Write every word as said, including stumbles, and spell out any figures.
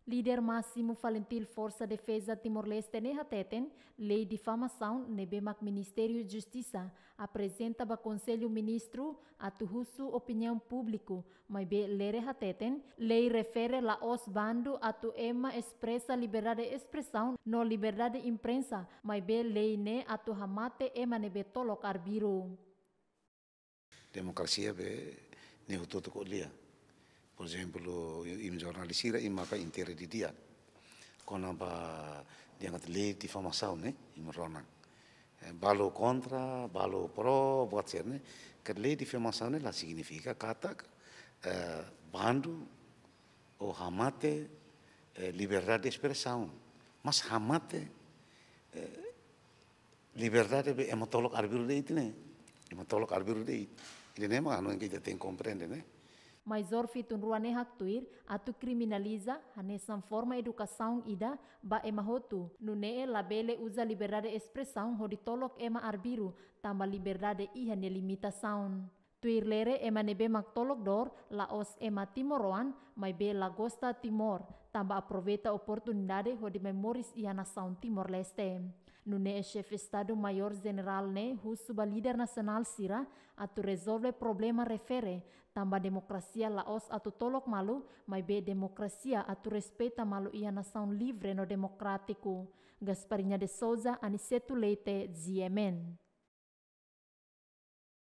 Líder másimu Falintil Forsa Defeza Timor-Leste ne'e hateten, lei difamasaun ne'ebé mak Ministériu Justisa aprezenta ba Konsellu Ministru atu husu opiniaun públiku, maibé Lere hateten, lei refere la'ós bandu atu ema espresa liberdade espresaun no liberdade imprensa, maibé lei ne'e atu hamate ema ne'ebé tolok arbiru. Demokrasia be ne'e hotu-hotu ko'alia. Por ezemplu, imi jornalista sira imi maka intera didi'ak kona-ba dehan katak lei difamasaun ne'e, imi rona. Eh, balu kontra, balu pro, buat sira-ne'e. Katak lei difamasaun ne'e la signifika katak, eh, bandu ou hamate, eh, liberdade de espresaun. Mas hamate, eh, liberdade be ema tolok arbiru de'it ne'e. Ema tolok arbiru de'it. Ida-ne'e mak hanoin ke ita tenke komprende, ne'e? Maizór fitun rua ne'e haktuir, atu kriminaliza, hanesan forma edukasaun ida ba ema hotu. Nune'e labele uza liberdade espresaun hodi tolok ema arbiru, tanba liberdade iha nia limitasaun. Tuir Lere, ema ne'ebé mak tolok dór, la'ós ema timoroan, maibé la gosta Timor, tanba aproveita oportunidade hodi mai moris iha nasaun Timor-Leste. Nune'e Xefe Estadu Maiór Jenerál ne'e husu ba líder nasionál sira atu rezolve problema refere, tanba demokrasia la'ós atu tolok malu, maibé demokrasia atu respeita malu iha nasaun livre no demokrátiku. Gasparinha de Souza, Aniceto Leite, G M N.